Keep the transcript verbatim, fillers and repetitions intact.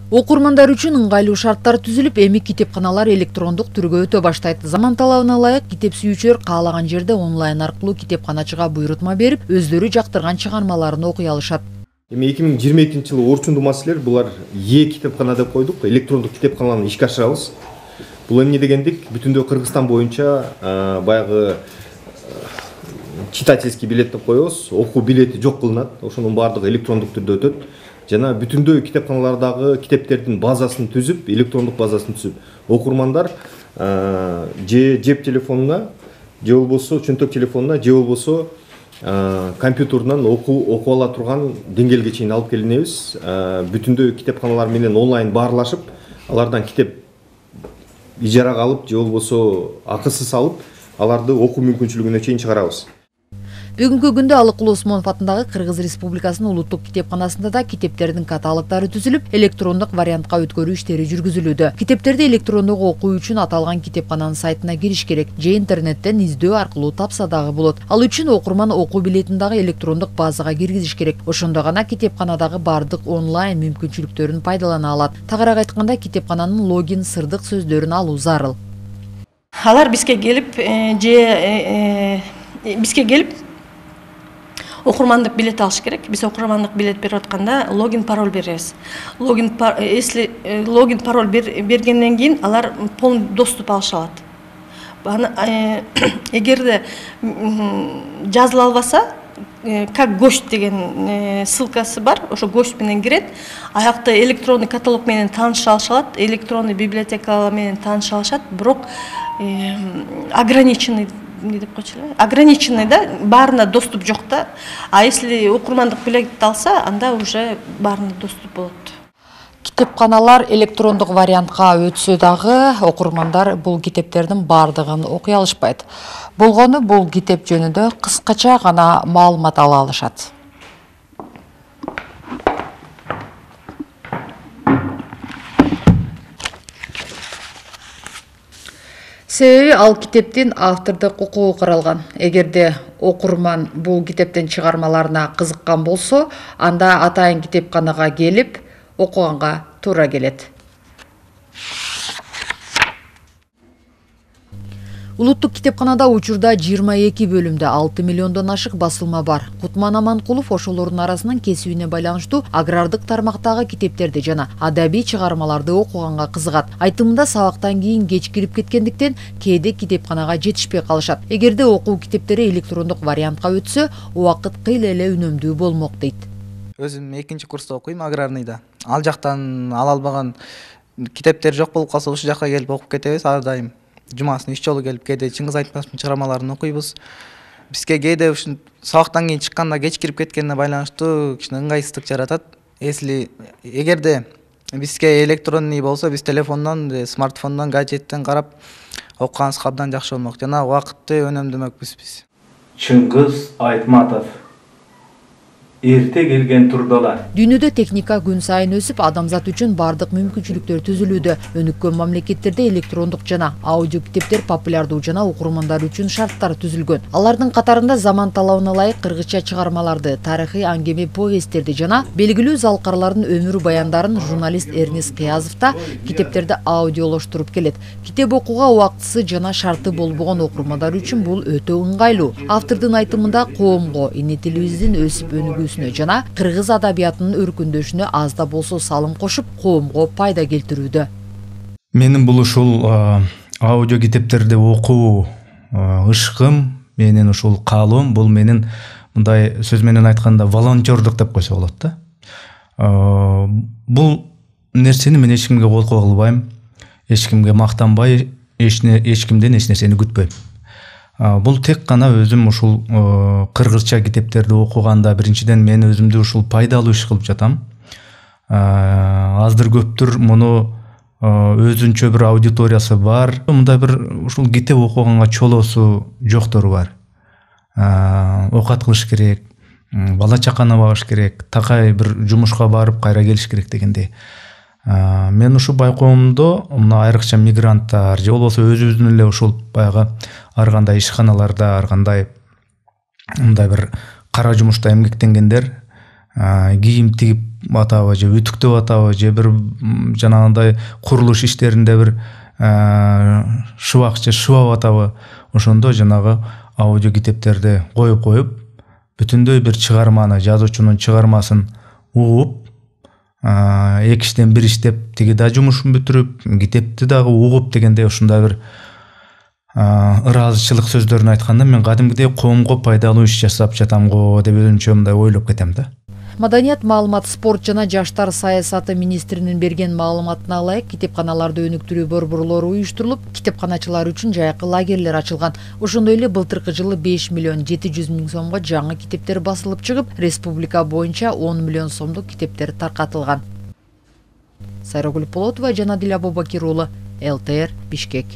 Окурмандар үчүн ыңгайлуу шарттар түзүлүп, эми китепканалар электрондук түргө өтө баштайт. Заман талабына ылайык китеп сүйүүчүлөр каалаган жерде онлайн аркылуу китепканачыга буйрутма берип, өздөрү жактырган чыгармаларын окуй алышат. Эми эки миң жыйырма экинчи жылы орчундуу маселелер булар Е китепкана деп койдук, электрондук китепканаларды ишке ашырабыз. Бул эмне дегендик? Бүтүндөй Кыргызстан боюнча баягы читательский билет деп коебуз, окуу билети жок кылынат. Ошонун баардыгы электрондук түрдө өтөт. Жана бүтүндөй китепканалардагы китептердин базасын түзүп, электрондук базасын түзүп, окурмандар же жеп телефонуна, же болбосо чөнтөк телефонуна, же болбосо компьютерден окуу окуп ала турган деңгээлге чейин алып келинебиз. Бүтүндөй китепканалар менен онлайн баарлашып, алардан китеп ижарага алып, же болбосо акысыз алып, аларды окуу мүмкүнчүлүгүнө чейин чыгарабыз. Бүгүнкү күндө Алыкул Осмонов атындагы Кыргыз Республикасынын улуттук китепканасында да китептердин каталогдору түзүлүп, электрондук вариантка өткөрүү иштери жүргүзүлүүдө. Китептерди электрондук окуу үчүн аталган китепкананын сайтына кириш керек, же интернеттен издөө аркылуу тапса дагы болот. Ал үчүн окурман окуу билетин дагы электрондук базага киргизиш керек. Ошондо гана китепканадагы бардык онлайн мүмкүнчүлүктөрүн пайдалана алат. Тагыраак айтканда, китепкананын логин, сырдык сөздөрүн алуу зарыл. Алар бизге келип, же бизге келип окурмандык билет алыш керек. Биз окурмандык билет берип атканда логин пароль беребиз. Логин если логин пароль бергенден кийин алар полный доступ алыша алат. Эгерде жазыла албаса, как гость деген ссылкасы бар, ошо гость менен кирет. Аякта электронный каталог менен тааныша алышат, электронный библиотека менен тааныша алышат, бирок ограниченный не деп койчу эле, ограниченный да, баарына доступ жок да. А если окурмандык билет алса, анда уже баарына доступ болот. Китепканалар электрондук вариантка өтсө дагы окурмандар бул китептердин баардыгын окуй алышпайт. Болгону бул китеп жөнүндө кыскача гана маалымат ала алышат. Себеби ал китептин автордук укугу каралган. Эгерде окурман бул китептин чыгармаларына кызыккан болсо, анда атайын китепканага келип окуганга туура келет. Улуттук китепканада учурда жыйырма эки бөлүмдө алты миллиондон ашык басылма бар. Кутман Аманкулов ошолордун арасынан кесибине байланыштуу агрардык тармактагы китептерди жана адабий чыгармаларды окуганга кызыгат. Айтымында сабактан кийин кеч кирип кеткендиктен кээде китепканага жетишпей калышат. Эгерде окуу китептери электрондук вариантка өтсө, убакыт кыйла эле үнөмдүү болмок дейт. Өзүм экинчи курста окуйм, аграрныйда. Ал жактан ала албаган китептер жок болуп калса, ушул жакка келип окуп кетебиз ар дайым. Жумасына үч жолу келип, кээде Чыңгыз Айтматовдун чыгармаларын окуйбуз. Бизге кээде ушун сабактан кийин чыкканда кеч кирип кеткенине байланыштуу кичине ыңгайсыздык жаратат. Если эгерде бизге электронный болсо, биз телефондон, смартфондон, гаджеттен карап окуганыбызга абдан жакшы болмок. Жана убакытты өнөмдөмөкпүз биз. Чыңгыз Айтматов эрте келген турдалар. Дүйнөдө техника күн сайын өсүп, адамзат үчүн бардык мүмкүнчүлүктөр түзүлүүдө. Өнүккөн мамлекеттерде электрондук жана аудио китептер популярдуу жана окурмандар үчүн шарттар түзүлгөн. Алардын катарында заман талабына ылайык кыргызча чыгармаларды, тарыхый аңгеме повесттерди жана белгилүү залкарлардын өмүр баяндарын журналист Эрнис Кыязов да китептерди аудиолоштуруп келет. Китеп окууга убактысы жана шарты болбогон окурмандар үчүн бул өтө ыңгайлуу. Автордун айтымында коомго, эне тилибиздин өсүп өнүгүү жана кыргыз адабиятынын өркүндөшүнө аз да болсо салым кошуп, коомго пайда келтирүүдө. Менин бул ушул аудио китептерди окуу ышкым, менин ушул каалоом, бул менин мындай сөз менен айтканда волонтердук деп койсо болот да. Бул нерсени мен эч кимге колко кылбайм, эч кимге мактанбай, эч кимден эч нерсени күтпөйм. Бул тек гана өзүм ушул кыргызча китептерди окуганда биринчиден мен өзүмдү ушул пайдалуу иш кылып жатам. Аздыр көптүр муну өзүнчө бир аудиториясы бар. Мындай бир ушул китеп окуганга чолоосу жоктору бар. Окат кылыш керек, бала чаканы багыш керек, такай бир жумушка барып кайра келиш керек дегендей. Мен ушу байкоомдо мына айрыкча мигранттар же болбосо өзүбүздүн эле ушул баягы ар кандай ишканаларда, ар кандай мындай бир кара жумушта эмгектенгендер кийим тигип атабы же үтүктөп атабы же бир жанагындай курулуш иштеринде бир шыбак же шыбап атабы, ошондо жанагы аудио китептерди коюп коюп бүтүндөй бир чыгарманы, жазуучунун чыгармасын угуп, эки иштен бир иштеп тиги да жумушун бүтүрүп, китепти дагы угуп дегендей ушундай бир ыраазычылык сөздөрүн айтканда мен кадимгидей коомго пайдалуу иш жасап жатам го деп өзүмчө мындай ойлоп кетем да. Маданият, маалымат, спорт жана жаштар саясаты министринин берген маалыматына ылайык китепканаларды өнүктүрүү борборлору уюштурулуп, китепканачылар үчүн жайкы лагерлер ачылган. Ошондой эле былтыркы жылы беш миллион жети жүз миң сомго жаңы китептер басылып чыгып, республика боюнча он миллион сомдук китептер таркатылган. Сайрагүл Полотова, Жанадил Абубакир уулу, эл тэ эр, Бишкек.